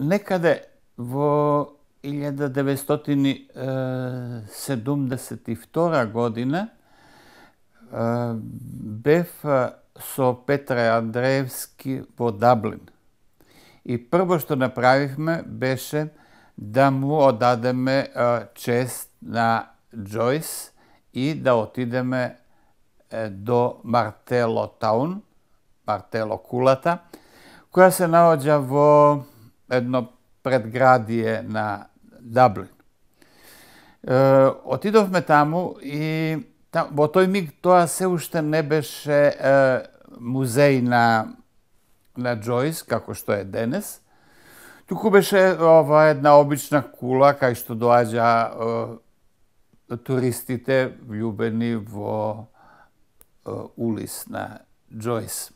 некаде во 1972 година бев со Петре Андреевски во Даблин. И прво што направивме беше да му одадеме чест на Џојс и да отидеме до Мартело Таун, Мартело кулата, која се наоѓа во едно предградие на Даблин. Отидовме таму и во тој миг тоа се уште не беше музеј на Џојс, како што е денес, туку беше една обична кула кај што доаѓа туристите влюбени во Улис на Џојс.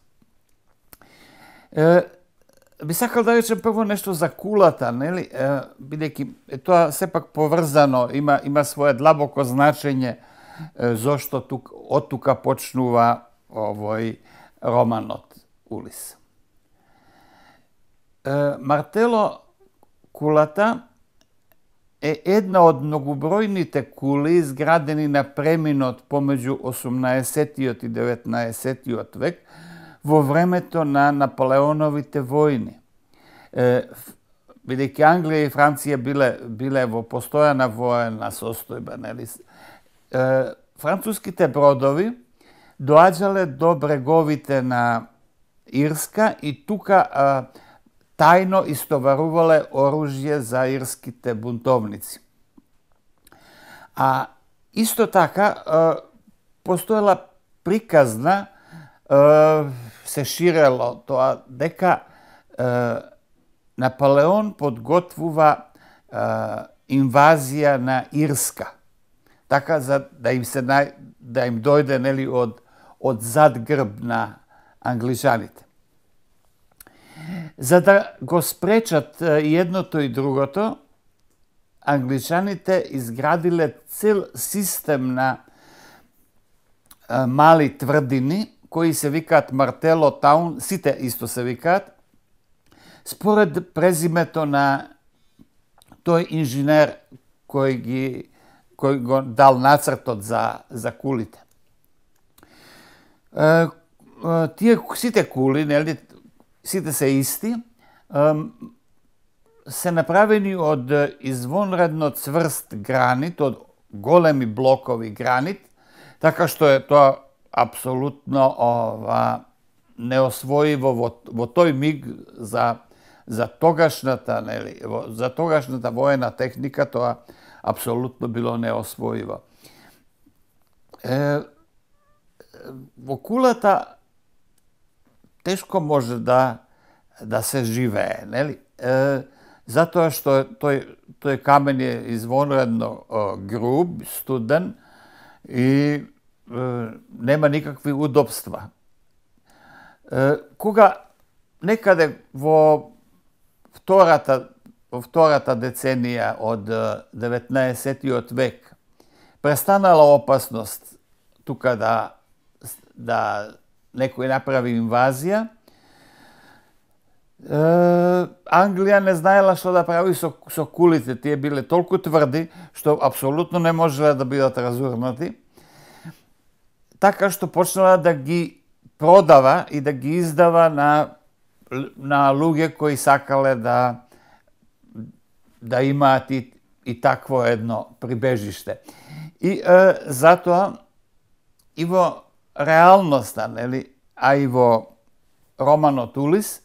Би сакал да речем прво нешто за кулата, нели? Бидејќи тоа сепак поврзано, има свое длабоко значење зошто од тука почнува овој романот Улис. Мартело кулата е една од многобројните кули изградени на преминот помеѓу 18-тиот и 19-тиот век во времето на Наполеоновите војни. Бидејќи Англија и Франција биле во постојана воена состојба, нели? Француските бродови доаѓале до бреговите на Ирска и тука тајно истоварувале оружје за ирските бунтовници. А исто така постоела приказна, се ширело тоа дека Наполеон подготвува инвазија на Ирска, така за да им дојде, нели, од зад грб на англичаните. За да го спречат и едното и другото, англичаните изградиле цел систем на мали тврдини, кои се викаат Мартело Таун, сите исто се викаат, според презимето на тој инженер кој го дал нацртот за кулите. Тие сите кули, нели, сите се исти, се направени од извонредно цврст гранит, од големи блокови гранит, така што е тоа апсолутно неосвоиво во тој миг за тогашната, нели, за тогашната воена техника, тоа апсолутно било неосвоиво. Во кулата тешко може да се живее, нели? Затоа што тој камен е извонредно груб, студен и нема никакви удобства. Кога некаде во втората деценија од 19-тиот век престанала опасност тука да некој направи инвазија, Англија не знаела што да прави со кулите. Тие биле толку тврди што апсолутно не можеле да бидат разурнати. Така што почнала да ги продава и да ги издава на луѓе кои сакале да имаат и такво едно прибежиште. И затоа и во реалноста, нели, а и во романот Улис,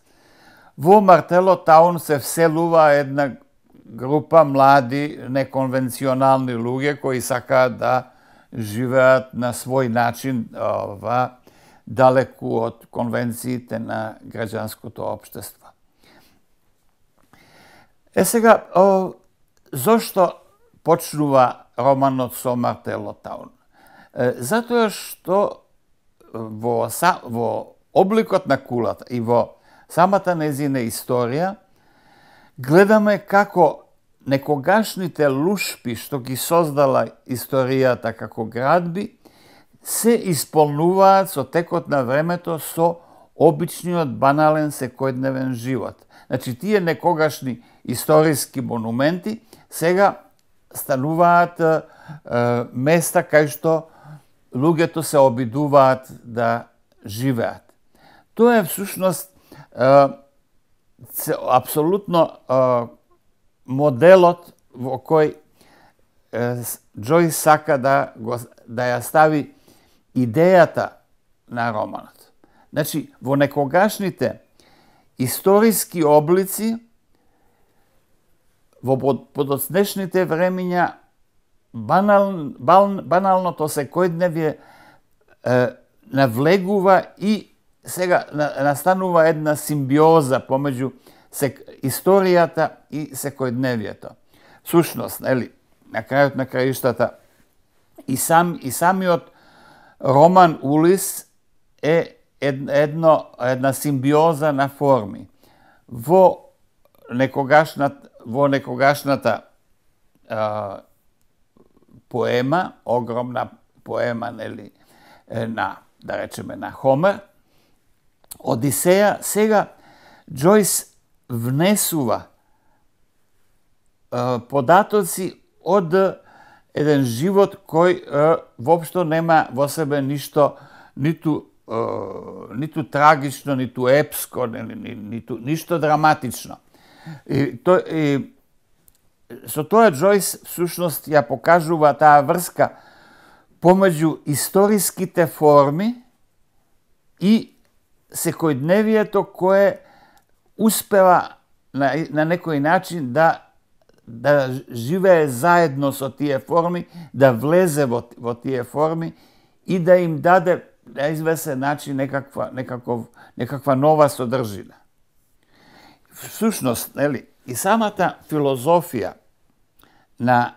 во Мартело Таун се вселува една група млади, неконвенционални луѓе кои сакаат да живеат на свој начин далеку од конвенциите на граѓанското општество. Сега, зошто почнува романот со Мартело Таун? Затоа што во обликот на кулата и во самата незина историја гледаме како некогашните лушпи што ги создала историјата како градби се исполнуваат со текот на времето со обичниот банален секојдневен живот. Значи, тие некогашни историски монументи сега стануваат места кај што луѓето се обидуваат да живеат. Тоа е всушност апсолутно моделот во кој Џојс сака да ја стави идејата на романот. Значи, во некогашните историски облици, во подоцнешните времиња, баналното секојдневие навлегува и сега настанува една симбиоза помеѓу историјата и секојдневието. Всушност, нели, на крајот на краиштата, и самиот роман Улис е една симбиоза на форми. Во некогашната поема, огромна поема, нели, да речеме, на Хомер, Одисеја, сега Џојс внесува податоци од еден живот кој воопшто нема во себе ништо, ниту трагично, ниту епско, ништо драматично. Со тоа Џојс всушност ја покажува таа врска помеѓу историските форми и секојдневието кое успева на некој начин да живее заедно со тие форми, да влезе во тие форми и да им даде на известен начин некаква нова содржина. Всушност, нели, и самата филозофија на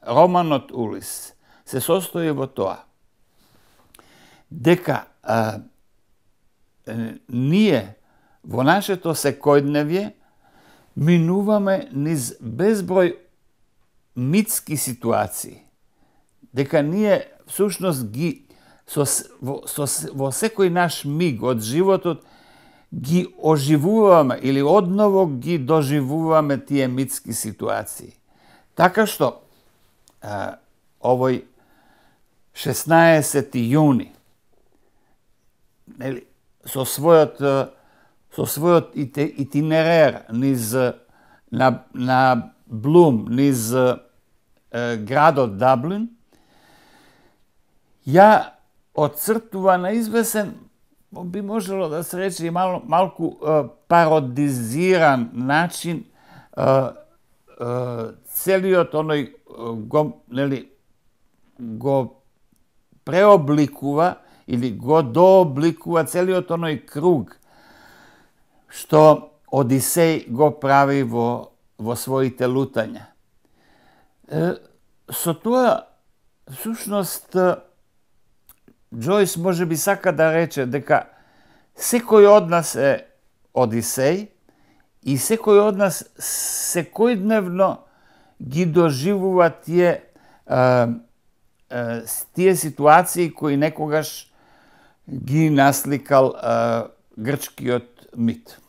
романот Улис се состои во тоа дека ние во нашето секојдневје минуваме низ безброј митски ситуации, дека ние всушност во секој наш миг од животот ги оживуваме или одново ги доживуваме тие митски ситуации. Така што овој 16 јуни со својот итинерер низ на Блум, низ градот Даблин, ја отцртува на известен, би можело да се рече и малку пародизиран начин целиот оној го преобликува или го дообликува целиот оној круг што Одисеј го прави во своите лутања. Со тоа, всушност, Џојс може би сака да рече дека секој од нас е Одисеј и секој од нас секојдневно ги доживува тие ситуации кои некогаш ги насликал грчкиот мит.